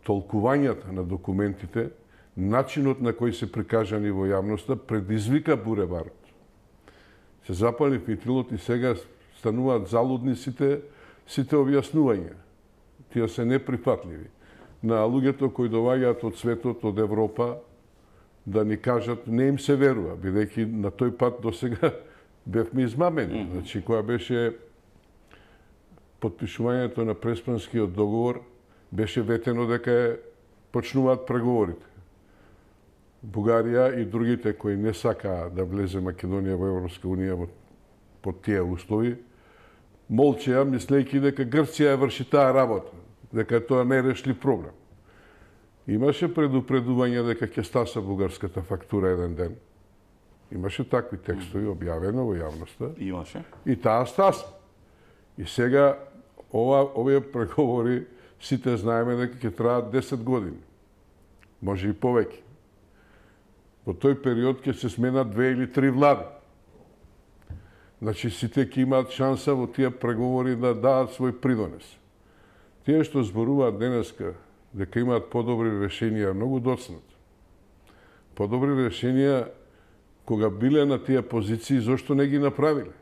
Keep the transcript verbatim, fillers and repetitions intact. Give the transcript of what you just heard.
толкувањата на документите, начинот на кој се прикажани во јавноста, предизвика булеварот. Се запали фитилот и сега стануваат залудни сите, сите објаснувања. Тие се неприфатливи. На луѓето кои доаѓаат од светот, од Европа, да ни кажат, не им се верува, бидејќи на тој пат до сега бевме измамени. Mm -hmm. Значи, која беше подпишувањето на Преспанскиот договор, беше ветено дека почнуваат преговорите. Бугарија и другите кои не сакаа да влезе Македонија во Европска унија под тие услови, молчеа, мислејќи дека Грција ја врши таа работа, дека тоа не е решлив проблем. Имаше предупредување дека ќе стаса бугарската фактура еден ден. Имаше такви текстови објавено во јавноста. Имаше. И таа стаса. И сега ова овие преговори сите знаеме дека ќе траат десет години. Може и повеќе. Во тој период ќе се сменат две или три влади. Значи сите ќе имаат шанса во тие преговори да дадат свој придонес. Тие што зборуваат денеска дека имаат подобри решенија, многу доцнат. Подобри решенија, кога биле на тие позиции, зошто не ги направиле?